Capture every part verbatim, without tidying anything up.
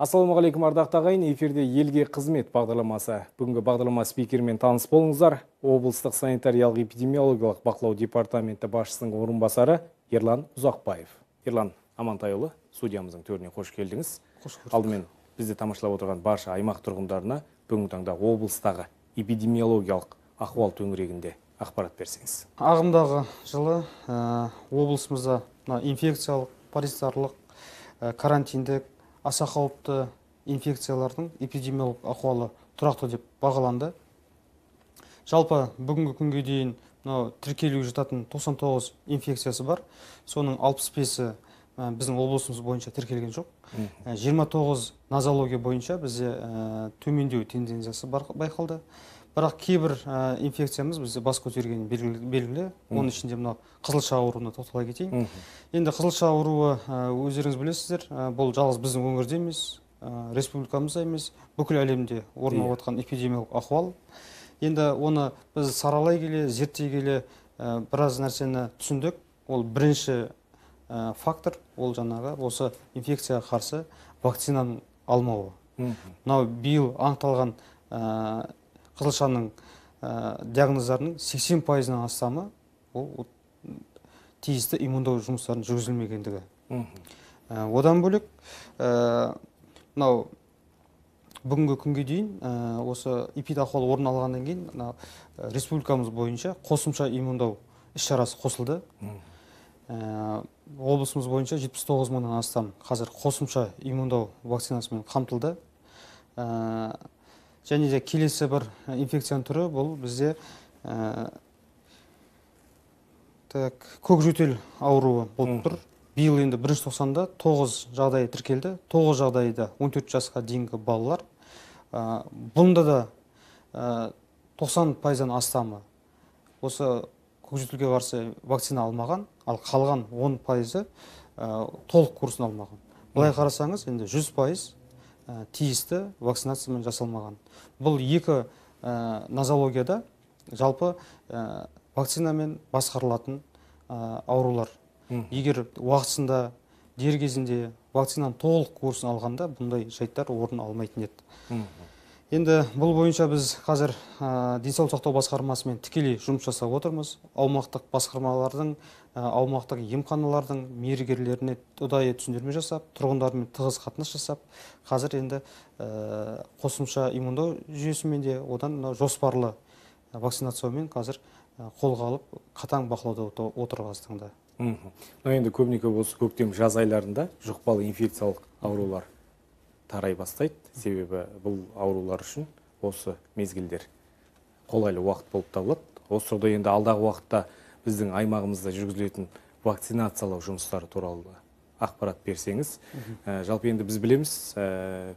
Ассалаумағалейкум ардақты ағайын, эфирде елге қызмет бағдарламасы. Бүгінгі бағдарлама спикермен таныс болыңыздар. Облыстық санитариялық-эпидемиологиялық бақылау департаменті басшысының орынбасары Ерлан Ұзақбаев. Ерлан Амантайұлы, студиямыздың төріне қош келдіңіз. Алдымен бізді тамашалап отырған барша аймақ тұрғындарына бүгінгі таңда облыстағы эпидемиологиялық ахуал төңірегінде ақпарат берсеңіз. Ағымдағы жылы ә, облысымызда инфекциялық, паразитарлық, ә, карантиндік, аса қауіпті инфекциялардың эпидемиологиялық ахуалы тұрақты деп бағаланды. Жалпы бүгінгі күнге дейін тіркелуге жататын тоқсан тоғыз инфекциясы бар. Соның алпыс бесі біздің облысымыз бойынша тіркелген жоқ. жиырма тоғыз нозология бойынша бізде төмендеу тенденциясы байқалды. Бірақ кейбір инфекциямыз бізде бас көтергені белгілі. Оның ішінде мынау қызылша ауруына тоқтала кетейін. Енді қызылша ауруы өздеріңіз білесіздер, бұл жалғыз біздің өңірде емес, республикамызда емес, бүкіл әлемде орын алып жатқан эпидемиялық ахуал. Енді оны біз саралай келе, зерттей келе біраз нәрсені түсіндік. Ол бірінші фактор, ол жаңағы осы инфекцияға қарсы вакцинаның алмауы. Мынау биыл анықталған қызылшаның диагноздарының сексен пайызынан астамы ол тиісті иммундау жұмыстарын жүргізілмегендігі. Одан бөлек, мынау бүгінгі күнге дейін осы эпидахуал орын алғаннан кейін республикамыз бойынша қосымша иммундау іс-шарасы қосылды. Облысымыз бойынша жетпіс тоғыз мыңнан астам қазір қосымша иммундау вакцинасымен қамтылды. Және де келесі бір инфекцияның түрі бұл бізде көкжөтел ауруы болып тұр. Биыл енді бірінші тоқсанда тоғыз жағдай тіркелді. тоғыз жағдайда он төрт жасқа дейінгі балалар. Бұнда да тоқсан пайыздан астамы осы көкжөтелге қарсы вакцина алмаған, ал қалған он пайызы толық курсын алмаған. Бұлай қарасаңыз, енді жүз пайыз тиісті вакцинациямен жасалмаған. Бұл екі нозологияда жалпы вакцинамен басқарылатын аурулар. Егер уақытысында, дер кезінде вакцинаның толық курсын алғанда бұндай жайттар орын алмайтын еді. Енді бұл бойынша біз қазір денсаулық сақтау басқармасымен тікелей жұмыс жасап отырмыз. Аумақтық басқармалардың, аумақтық емханалардың мердігерлеріне ұдайы түсіндірме жасап, тұрғындармен тығыз қатынас жасап, қазір енді қосымша иммундау жүйесімен де одан жоспарлы вакцинациямен қазір қолға алып, қатаң бақылауда отыр қазіргі таңда. Енді көбіне көп осы көктем жаз айларында жұқпалы инфекциялық аурулар тарай бастайды. Себебі бұл аурулар үшін осы мезгілдер қолайлы уақыт болып табылады. Осы тұрғыда енді алдағы уақытта біздің аймағымызда жүргізілетін вакцинациялау жұмыстары туралы ақпарат берсеңіз. Жалпы енді біз білеміз,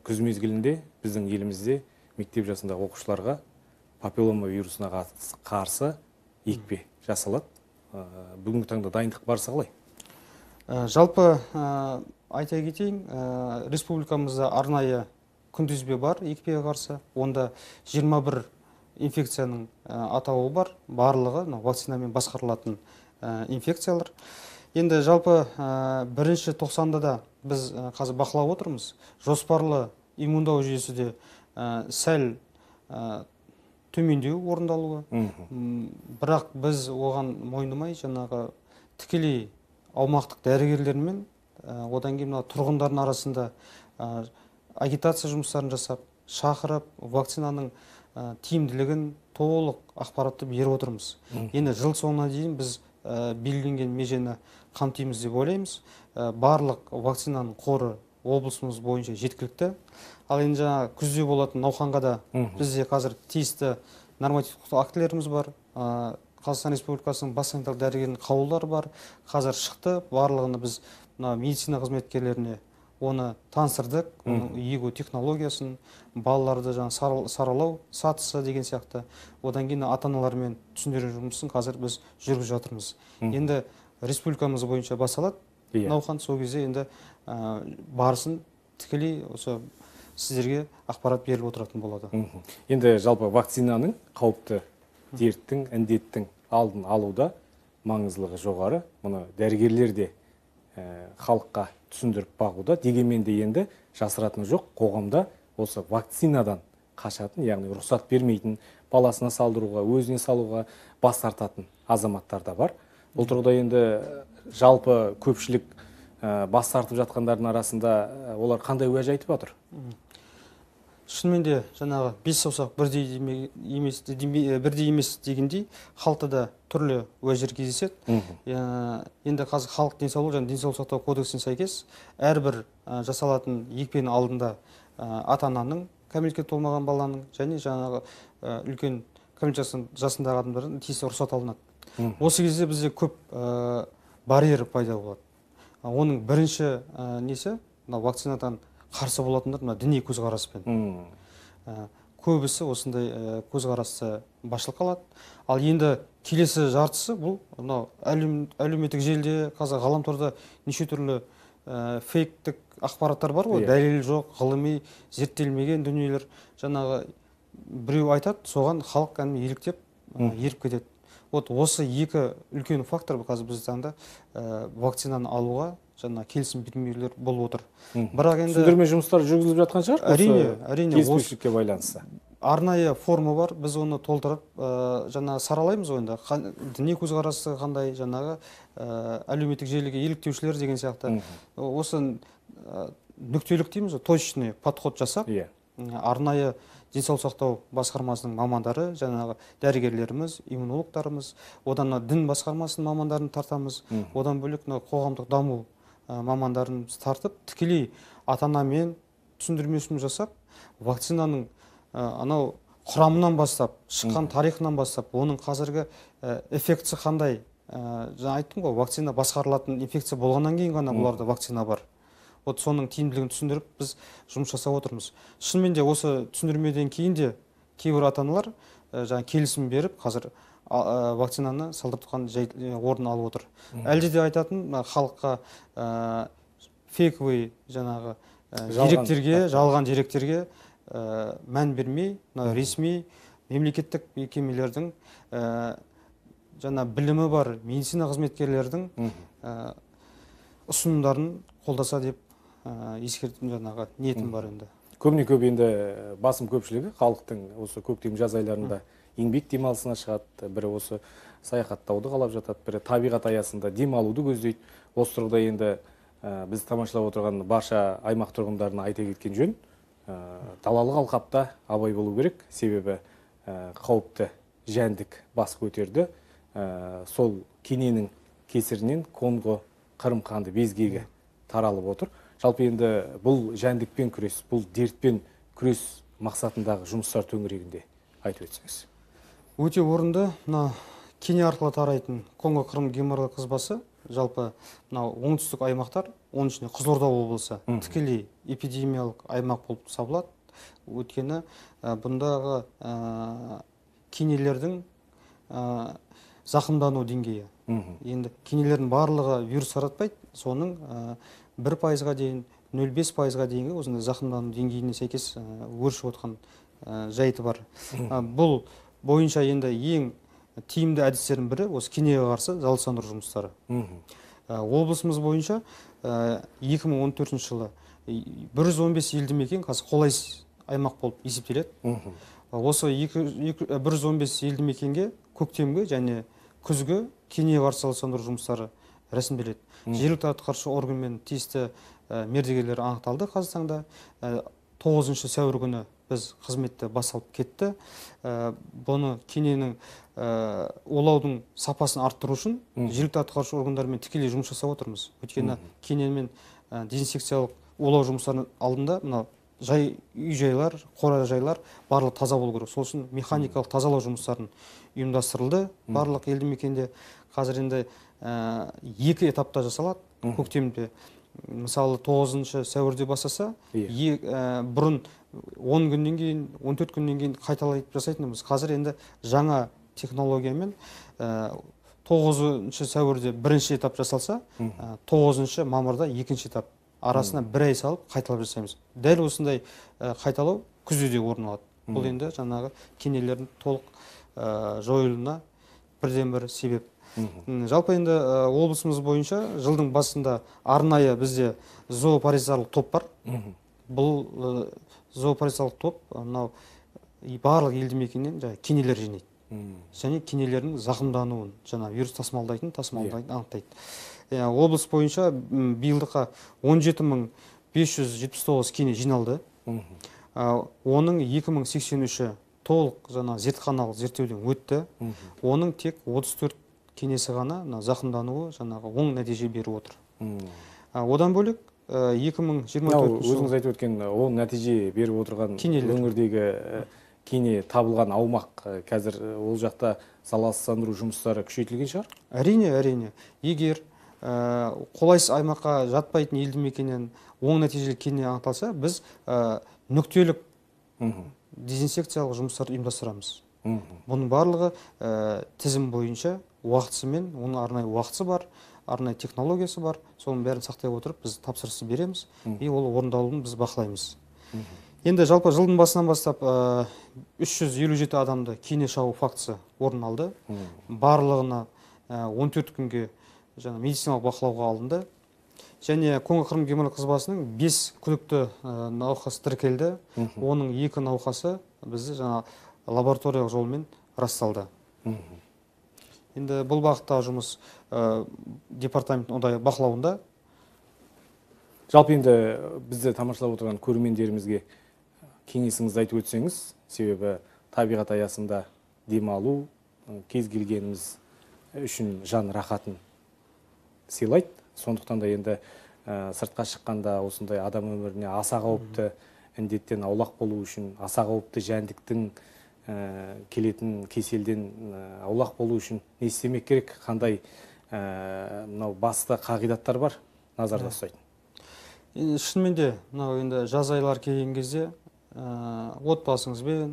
күз мезгілінде біздің елімізде мектеп жасындағы оқушыларға папиллома вирусына қарсы екпе жасалады. Бүгінгі таңда дайындық барысы қалай? Жалпы айта кетейін, республикамызда арнайы күнтізбе бар екпеге қарсы. Онда жиырма бір инфекцияның атауы бар, барлығы вакцинамен басқарылатын инфекциялар. Енді жалпы бірінші тоқсанда да біз қазір бақылап отырмыз. Жоспарлы иммундау жүйесі де сәл төмендеу орындалуы. Бірақ біз оған мойындамай, жаңағы тікелей аумақтық дәрігерлермен, одан кейін тұрғындардың арасында агитация жұмыстарын жасап, шақырып, вакцинаның тиімділігін толық ақпаратты беріп отырмыз. Енді жыл соңына дейін біз белгіленген межені қамтимыз деп ойлаймыз. Барлық вакцинаның қоры облысымыз бойынша жеткілікті. Ал енді жаңа күзде болатын науқанға да бізде қазір тиісті нормативтік актілеріміз бар. Қазақстан Республикасының бас санитарлық дәрігерінің қаулылары бар. Қазір шықты, барлығыны біз медицина қызметкерлеріне оны таныстырдық, оның егу технологиясын, балаларды саралау сатысы деген сияқты. Одан кейін ата-аналармен түсіндіру жұмысын қазір біз жүргізіп жатырмыз. Енді республикамыз бойынша басталады науқан, сол кезде енді барысын тікелей осы сіздерге ақпарат беріліп отыратын болады. Енді жалпы вакцинаның қауіпті дерттің, індеттің алдын алуда маңыздылығы жоғары. Мұны дәрігерлер де халыққа түсіндіріп бағуда. Дегенмен де енді жасыратыны жоқ, қоғамда осы вакцинадан қашатын, яғни рұқсат бермейтін, баласына салдыруға, өзіне салуға бас тартатын азаматтар да бар. Бұл тұрғыда енді жалпы көпшілік бас тартып жатқандардың арасында олар қандай уәж айтып отыр? Шынымен де жаңағы бес саусақ бірдей емес, бірдей емес дегендей, халықта да түрлі уәждер кездеседі. Енді қазір халық денсаулығы және денсаулық сақтау кодексіне сәйкес әрбір жасалатын екпенің алдында ата-ананың, кәмелетке толмаған баланың және жаңағы үлкен кәмелет жасындағы адамдардың тиісті рұқсат алынады. Осы кезде бізде көп барьер пайда болады. Оның бірінші несі, вакцинадан қарсы болатындар діни көзқараспен. Көбісі осындай көзқарасты басшылыққа алады. Ал енді келесі жартысы бұл әлеуметтік желіде, қазір ғаламторда неше түрлі фейктік ақпараттар бар ғой, дәлелі жоқ, ғылыми зерттелмеген дүниелер. Жаңағы біреу айтады, соған халық кәдімгі еліктеп, еріп кетеді. Вот осы екі үлкен фактор қазір біздің таңда вакцинаны алуға жаңа келісім бермеулер болып отыр. Бірақ енді түсіндірме жұмыстары жүргізіліп жатқан шығар? Әрине, әрине. Келіспеушілікке байланысты. Арнайы форма бар, біз оны толтырып, жаңа саралаймыз ойында. Діни көзқарасы қандай, жаңағы әлеуметтік желіге еліктеушілер деген сияқты. Осы нүктелік дейміз, точный подход жасап, арнайы денсаулық сақтау басқармасының мамандары, жаңағы дәрігерлеріміз, иммунологтарымыз, одан дін басқармасының мамандарын тартамыз, одан бөлек қоғамдық даму мамандарын тартып, тікелей ата-анамен түсіндірмесін жасап, вакцинаның анау құрамынан бастап, шыққан тарихынан бастап, оның қазіргі эффектісі қандай. Жаңа айттым ғой, вакцина басқарылатын инфекция болғаннан кейін ғана бұларда вакцина бар. Вот соның тиімділігін түсіндіріп, біз жұмыс жасап отырмыз. Шынымен де осы түсіндірмеден кейін де кейбір ата-аналар жаңа келісім беріп, қазір вакцинаны салдырып тұрған орын алып отыр. Әлде де айтатын халыққа фейковый жаңағы деректерге, жалған деректерге мән бермей, ресми мемлекеттік мекемелердің жаңа білімі бар медицина қызметкерлердің ұсынымдарын қолдаса деп ескертім, жаңағы ниетім бар енді. Көбіне көп енді басым көпшілігі халықтың осы көктем жаз айларында еңбек демалысына шығады, бірі осы саяхаттауды қалап жатады, бірі табиғат аясында демалуды көздейді. Осы тұрғыда енді біз тамашалап отырған барша аймақ тұрғындарына айта кеткен жөн, далалық алқапта абай болу керек, себебі қауіпті жәндік бас көтерді. Сол кененің кесірінен Конго Қырым қанды безгегі таралып отыр. Жалпы енді бұл жәндікпен күрес, бұл дертпен күрес мақсатындағы жұмыстар төңірегінде айтып өтсеңіз. Өте орынды. Мына кене арқылы тарайтын Конго Қырым геморрой қызбасы жалпы оңтүстік аймақтар, оның ішінде Қызылорда облысы тікелей эпидемиялық аймақ болып табылады. Өйткені бұндағы кенелердің зақымдану деңгейі. Енді кенелердің барлығы вирус таратпайды, соның бір пайызға дейін, нөл бес пайызға дейінгі осындай зақымдану деңгейіне сәйкес өршіп отқан жайты бар. Бұл бойынша енді ең тиімді әдістердің бірі осы кенеге қарсы залалсыздандыру жұмыстары. Облысымыз бойынша екі мың он төртінші жылы бір жүз он бес елді мекен қазір қолайсыз аймақ болып есептеледі. Осы бір жүз он бес елді мекенге көктемгі және күзгі кенеге қарсы залалсыздандыру жұмыстары рәсімделеді. Жергілікті атқарушы органмен тиісті мердігерлер анықталды. Қазақстанда тоғызыншы сәуір күні біз қызметті басталып кетті. Бұны кененің олаудың сапасын арттыру үшін жергілікті атқарушы органдармен тікелей жұмыс жасап отырмыз. Өйткені кенемен дезинсекциялық олау жұмыстарының алдында мына жай үй-жайлар, қора-жайлар барлық таза болу керек. Сол үшін механикалық тазалау жұмыстарын ұйымдастырылды. Барлық елді мекенде қазір енді екі этапта жасалады. Көктемде мысалы тоғызыншы сәуірде бастаса, бұрын он күннен кейін, он төрт күннен кейін қайталайтып жасайтынымыз. Қазір енді жаңа технологиямен тоғызыншы сәуірде бірінші этап жасалса, тоғызыншы мамырда екінші этап арасына бір ай салып қайталап жасаймыз. Дәл осындай қайталау күзде орын алады. Бұл енді жаңағы кенелердің толық жойылуына бірден бір себеп. Жалпы енді облысымыз бойынша жылдың басында арнайы бізде зоопаризарлық топ бар. Бұл зоопаризарлық топ мынау барлық елді мекеннен кенелер жинайды. Және кенелердің зақымдануын, жаңа вирус тасымалдайтын, тасымалдайтын анықтайды. Облыс бойынша биылдыққа он жеті мың бес жүз жетпіс тоғыз кене жиналды. Оның екі мың сексен үші толық жаңа зертханалық зерттеуден өтті. Оның тек отыз төрт кенесі ғана зақымдануы жаңағы оң нәтиже беріп отыр. Одан бөлек екі мың жиырма төртінші жылы өзіңіз айтып өткен оң нәтиже беріп отырған өңірдегі кене табылған аумақ қазір ол жақта залалсыздандыру жұмыстары күшейтілген шығар? Әрине, әрине. Егер қолайсыз аймаққа жатпайтын елді мекеннен оң нәтижелі кене анықталса, біз нүктелік дезинсекциялық жұмыстарды ұйымдастырамыз. Бұның барлығы тізім бойынша уақытысымен, оның арнайы уақыты бар, арнайы технологиясы бар. Соның бәрін сақтай отырып, біз тапсырысы береміз, и ол орындалуын біз бақылаймыз. Енді жалпы жылдың басынан бастап үш жүз елу жеті адамды кене шағу фактісі орын алды. Барлығына он төрт күнге медициналық бақылауға алынды. Және Конго-Қырым геморрой қызбасының бес күдікті науқас тіркелді. Оның екі науқасы бізді жаңа лабораториялық жолмен расталды. Енді бұл бағыттағы жұмыс департаменттің ұдайы бақылауында. Жалпы енді бізді тамашалап отырған көрермендерімізге кеңесіңізді айтып өтсеңіз, себебі табиғат аясында демалу кез келгеніміз үшін жан рахатын сыйлайды. Сондықтан да енді сыртқа шыққанда осындай адам өміріне аса қауіпті індеттен аулақ болу үшін, аса қауіпті жәндіктің келетін кеселден аулақ болу үшін не істемек керек, қандай мынау басты қағидаттар бар назарда ұстайтын? Шынымен де мынау енді жаз айлар келген кезде отбасыңызбен,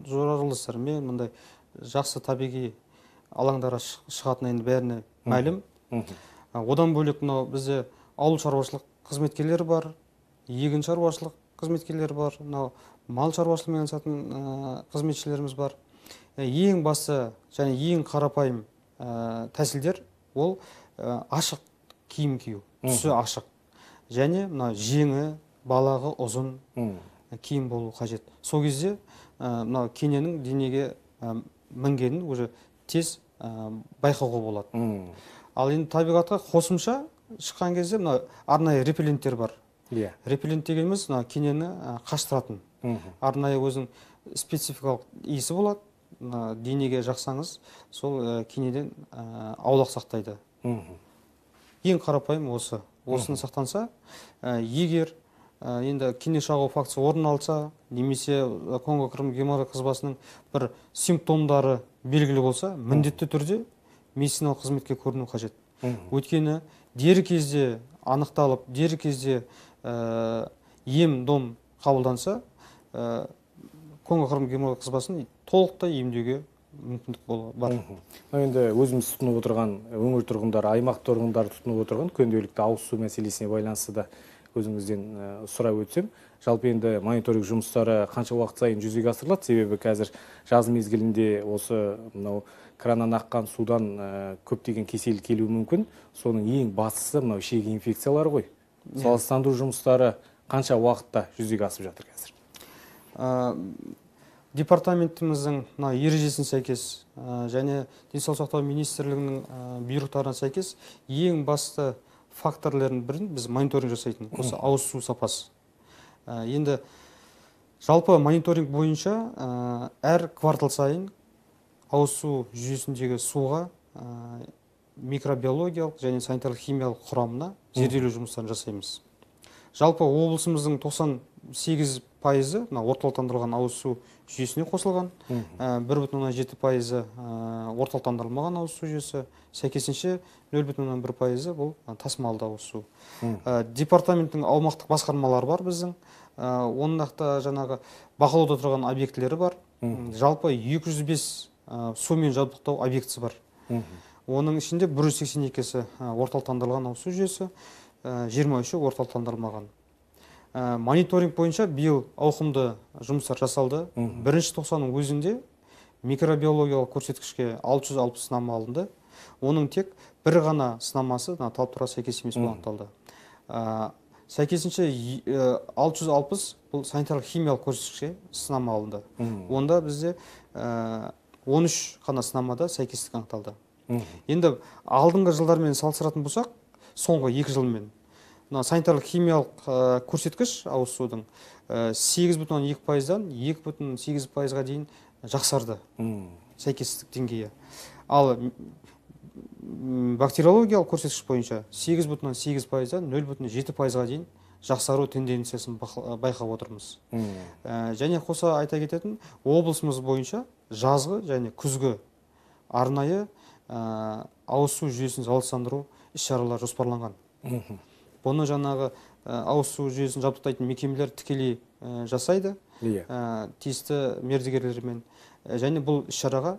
жоралғылыстармен мындай жақсы табиғи алаңдарға шығатын енді бәріне мәлім. Одан бөлек мынау бізде ауыл шаруашылық қызметкерлері бар, егін шаруашылық қызметкерлері бар, мынау мал шаруашылығымен айналысатын қызметшілеріміз бар. Ең басты және ең қарапайым тәсілдер ол ашық киім кию, түсі ашық. Және мына жеңі, балағы ұзын киім болу қажет. Сол кезде мынау кененің денеге мінгенін уже тез байқауға болады. Ал енді табиғатқа қосымша шыққан кезде мына арнайы репелленттер бар. Репеллент дегеніміз кенені қаштыратын. Арнайы өзінің спецификалық иісі болады. Денеге жақсаңыз, сол кенеден аулақ сақтайды. Ең қарапайым осы. Осыны сақтанса, егер енді кене шағу фактісі орын алса, немесе Конго-Қырым геморрой қызбасының бір симптомдары белгілі болса, міндетті түрде медициналық қызметке көріну қажет. Өйткені дер кезде анықталып, дер кезде ем-дом қабылданса, Конго-Қырым геморрой қызбасын толықтай емдеуге мүмкіндік бар. Енді өзіміз тұтынып отырған өңір тұрғындары, аймақ тұрғындары тұтынып отырған күнделікті ауыз су мәселесіне байланысты да өзіңізден сұрап өтсем, жалпы енді мониторинг жұмыстары қанша уақыт сайын жүзеге асырылады? Себебі қазір жаз мезгілінде осы мынау краннан аққан судан көптеген кесел келуі мүмкін. Соның ең бастысы мынау ішек инфекциялары ғой. Залалсыздандыру жұмыстары қанша уақытта жүзеге асып жатыр қазір? Департаментіміздің ережесіне сәйкес және денсаулық сақтау министрлігінің бұйрықтарына сәйкес ең басты факторлердің бірін біз мониторинг жасайтын, осы ауыз су сапасы. Енді жалпы мониторинг бойынша әр квартал сайын ауыз су жүйесіндегі суға микробиологиялық және санитарлық химиялық құрамына зерделеу жұмыстарын жасаймыз. Жалпы облысымыздың тоқсан сегіз пайызы орталықтандырылған ауыз су жүйесіне қосылған, бір бүтін оннан жеті пайызы орталықтандырылмаған ауыз су жүйесі, сәйкесінше нөл бүтін оннан бір пайызы бұл тасымалды ауыз су. Департаменттің аумақтық басқармалары бар біздің, оның нақты жаңағы бақылауда тұрған объектілері бар. Жалпы екі жүз бес сумен жабдықтау объектісі бар. Оның ішінде бір жүз сексен екісі орталықтандырылған ауыз су жүйесі, жиырма үші орталықтандырылмаған. Мониторинг бойынша биыл ауқымды жұмыстар жасалды. Бірінші тоқсанның өзінде микробиологиялық көрсеткішке алты жүз алпыс сынама алынды. оның тек бір ғана сынамасы талаптарға сәйкес емес анықталды. Сәйкесінше алты жүз алпыс бұл санитарлық химиялық көрсеткішке сынама алынды. Онда бізде он үш қана сынамада сәйкестік анықталды. Енді алдыңғы жылдармен салыстыратын болсақ, соңғы екі жылмен санитарлық химиялық көрсеткіш ауыз судың сегіз бүтін оннан екі пайыздан екі бүтін оннан сегіз пайызға дейін жақсарды сәйкестік деңгейі. Ал бактериологиялық көрсеткіш бойынша сегіз бүтін оннан сегіз пайыздан нөл бүтін оннан жеті пайызға дейін жақсару тенденциясын байқап отырмыз. Және қоса айта кететін, облысымыз бойынша жазғы және күзгі арнайы ауыз су жүйесін залалсыздандыру іс-шаралар жоспарланған. Бұны жаңағы ауыз су жүйесін жабдықтайтын мекемелер тікелей жасайды, тиісті мердігерлермен. Және бұл іс-шараға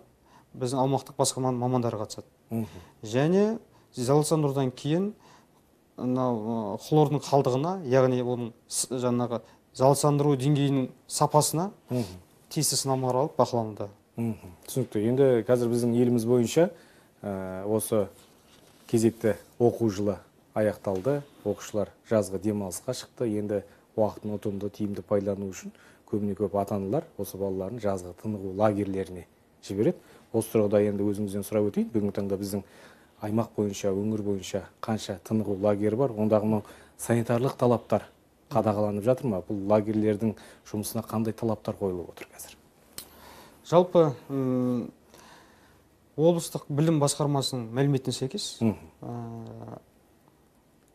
біздің аумақтық басқарманың мамандары қатысады. Және залалсыздандырудан кейін хлордың қалдығына, яғни оның жаңағы залалсыздандыру деңгейінің сапасына тиісті сынамалар алып бақылануда. Түсінікті. Енді қазір біздің еліміз бойынша осы кезекті оқу жылы аяқталды. Оқушылар жазғы демалысқа шықты. Енді уақытын ұтымды, тиімді пайдалану үшін көбіне көп ата-аналар осы балаларын жазғы тынығу лагерлеріне жібереді. Осы тұрғыда енді өзіңізден сұрап өтейін. Бүгінгі таңда біздің аймақ бойынша, өңір бойынша қанша тынығу лагері бар? Ондағы санитарлық талаптар қадағаланып жатыр ма? Бұл лагерлердің жұмысына қандай талаптар қойылып отыр қазір? Жалпы облыстық білім басқармасының мәліметіне сәйкес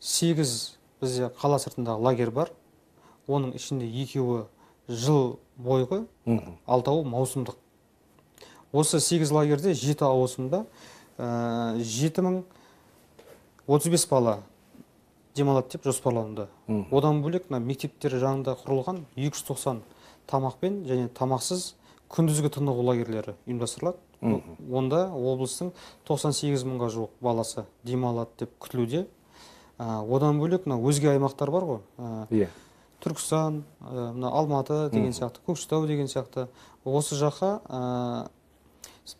сегіз бізде қала сыртындағы лагерь бар. Оның ішінде екеуі жыл бойғы, алтауы маусымдық. Осы сегіз лагерде жеті ауысымда жеті мың отыз бес бала демалады деп жоспарланды. Одан бөлек мектептер жанында құрылған екі жүз тоқсан тамақпен және тамақсыз күндізгі тынығу лагерлері ұйымдастырылады. Онда облыстың тоқсан сегіз мыңға жуық баласы демалады деп күтілуде. Одан бөлек өзге аймақтар бар ғой. Түркістан, Алматы деген сияқты, Көкшетау деген сияқты. Осы жаққа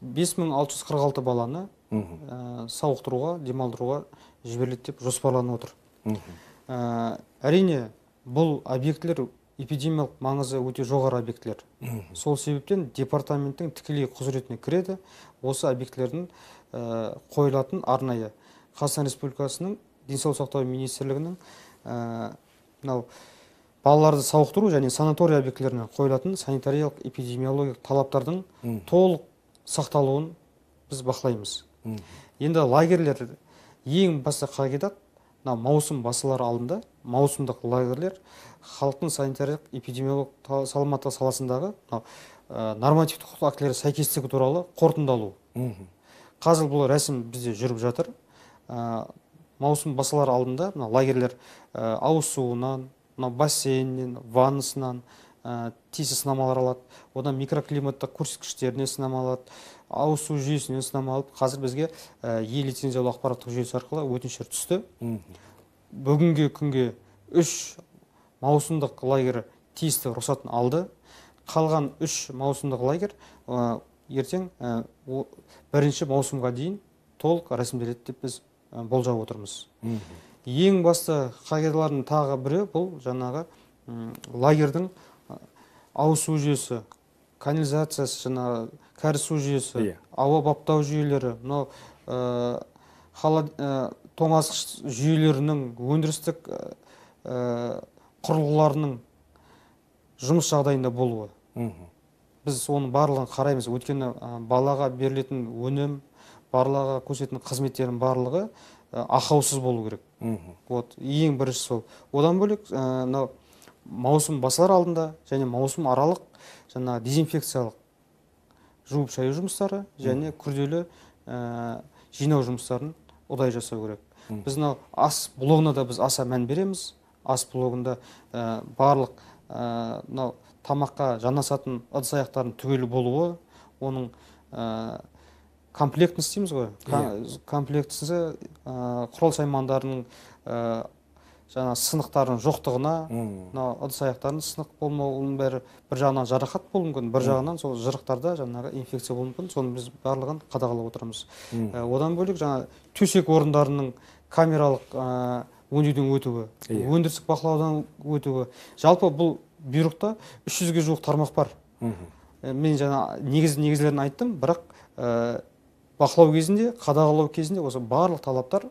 бес мың алты жүз қырық алты баланы сауықтыруға, демалдыруға жіберіледі деп жоспарланып отыр. Әрине, бұл объектілер эпидемиялық маңызы өте жоғары объектілер. Сол себептен департаменттің тікелей құзыретіне кіреді. Осы объектілердің қойылатын арнайы Қазақстан Республикасының денсаулық сақтау министрлігінің балаларды сауықтыру және санатория объектілеріне қойылатын санитариялық эпидемиологиялық талаптардың толық сақталуын біз бақылаймыз. Енді лагерлер ең басты қағидат маусым басылар алдында маусымдық лагерлер халықтың санитариялық эпидемиологиялық саламаттығы саласындағы нормативтік құқықтық актілері сәйкестігі туралы қорытындалу. Қазір бұл рәсім бізде жүріп жатыр. Маусым басылар алдында лагерлер ауыз суынан, бассейннен, ваннасынан тиісті сынамалар алады. Одан микроклиматтық көрсеткіштеріне сынама алады, ауыз су жүйесіне сынама алып, қазір бізге е-лицензиялы ақпараттық жүйесі арқылы өтініштер түсті. Бүгінгі күнге үш маусымдық лагер тиісті рұқсатын алды. Қалған үш маусымдық лагер ертең бірінші маусымға дейін толық рәсімделеді деп біз болжап отырмыз. Ең басты қағидалардың тағы бірі бұл жаңағы лагердің ауыз су жүйесі, канализациясы, жаңағы кәріз су жүйесі, ауа баптау жүйелері, тоңазытқыш жүйелерінің өндірістік құрылғыларының жұмыс жағдайында болуы. Біз оның барлығын қараймыз. Өйткені балаға берілетін өнім, балаға көрсететін қызметтердің барлығы ақаусыз болу керек. Ең бірінші сол. Одан бөлек маусым басылар алдында және маусым аралық жаңа дезинфекциялық жуып шаю жұмыстары және күрделі жинау жұмыстарын ұдай жасау керек. Біз ас блогына да біз аса мән береміз. Ас блогында барлық тамаққа жанасатын ыдыс-аяқтардың түгелі болуы, оның комплектісі дейміз ғой. Комплектісі құрал-саймандарының жаңа сынықтардың жоқтығына, мынау ыдыс аяқтардың сынық болмауының бәрі бір жағынан жарақат болуы мүмкін, бір жағынан сол жырықтарда жаңағы инфекция болуы мүмкін. Соны біз барлығын қадағалап отырамыз. Одан бөлек жаңа төсек орындарының камералық өңдеуден өтуі, өндірістік бақылаудан өтуі. Жалпы бұл бұйрықта үш жүзге жуық тармақ бар. Мен жаңа негіз негізлерін айттым, бірақ бақылау кезінде, қадағалау кезінде осы барлық талаптар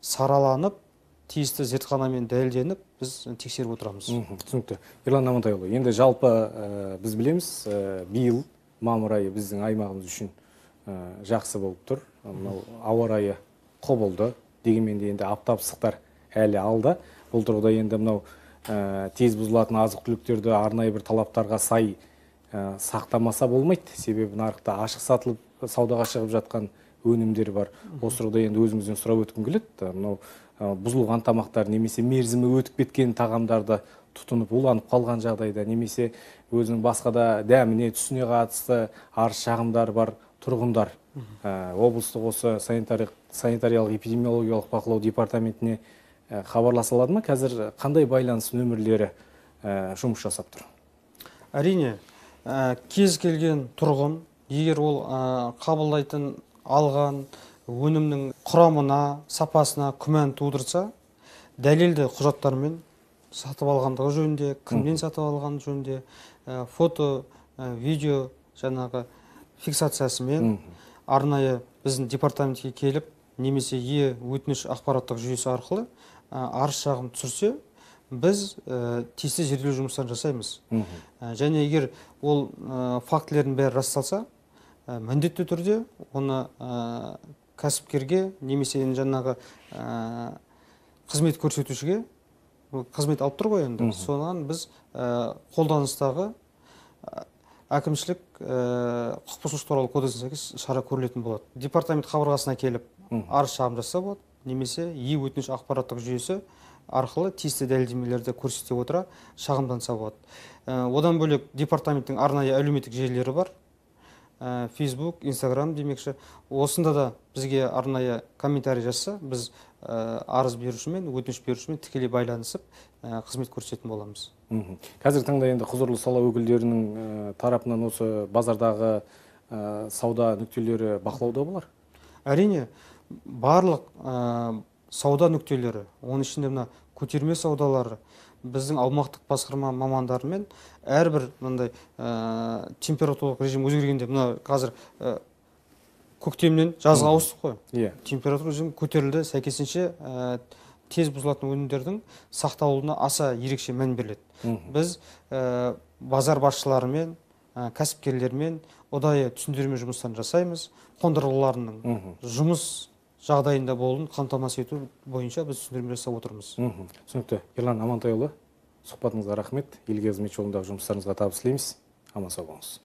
сараланып, тиісті зертханамен дәлелденіп, біз тексеріп отырамыз. Түсінікті. Ерлан Амантайұлы, енді жалпы біз білеміз, биыл мамыр айы біздің аймағымыз үшін жақсы болып тұр. Ауа райы құбылды, дегенмен де енді аптап ыстықтар әлі алда. Бұл тұрғыда енді мынау тез бұзылатын азық-түліктерді арнайы бір талаптарға сай сақтамаса болмайды. Себебі нарықта ашық сатылып, саудаға шығып жатқан өнімдер бар. Осы тұрғыда енді өзіңізден сұрап өткім келеді. Мынау бұзылған тамақтар немесе мерзімі өтіп кеткен тағамдарды тұтынып уланып қалған жағдайда, немесе өзінің басқа да дәміне, түсіне қатысты арыз шағымдар бар тұрғындар облыстық осы санитариялық эпидемиологиялық бақылау департаментіне хабарласа алады ма? Қазір қандай байланыс нөмірлері жұмыс жасап тұр? Әрине, кез келген тұрғын, егер ол қабылдайтын алған өнімнің құрамына, сапасына күмән тудырса, дәлелді құжаттармен сатып алғандығы жөнінде, кімнен сатып алған жөнінде, фото, видео жаңағы фиксациясымен арнайы біздің департаментке келіп, немесе е өтініш ақпараттық жүйесі арқылы арыз шағым түсірсе, біз тиісті зерделеу жұмыстарын жасаймыз. Және егер ол фактілердің бәрі расталса, міндетті түрде оны кәсіпкерге немесе жаңағы қызмет көрсетушіге, қызмет алып тұр ғой енді, соған біз қолданыстағы әкімшілік құқық бұзушылық туралы кодексіне сәйкес шара көрілетін болады. Департамент қабырғасына келіп арыз шағым жасаса болады, немесе е өтініш ақпараттық жүйесі арқылы тиісті дәлелдемелерді көрсете отыра шағымданса болады. Одан бөлек департаменттің арнайы әлеуметтік желілері бар. Facebook, Instagram демекші. Осында да бізге арнайы комментарий жазса, біз арыз берушімен, өтініш берушімен тікелей байланысып қызмет көрсететін боламыз. Қазір таңда енді құзырлы сала өкілдерінің тарапынан осы базардағы сауда нүктелері бақылауда болар? Әрине, барлық сауда нүктелері, оның ішінде мына көтерме саудалары, біздің аумақтық басқарма мамандарымен әрбір мындай температуралық режим өзгергенде, мына қазір көктемнен жазға ауыстық қой. Температура режим көтерілді, сәйкесінше тез бұзылатын өнімдердің сақталуына аса ерекше мән беріледі. Біз базар басшыларымен, кәсіпкерлермен ұдайы түсіндірме жұмыстарын жасаймыз. Қондырғыларының жұмыс жағдайында болуын қамтамасыз ету бойынша біз түсіндірме жасап отырмыз. Түсінікті. Ерлан Амантайұлы, сұхбатыңызға рахмет. Елге қызмет жолындағы жұмыстарыңызға табыс тілейміз. Аман сау болыңыз.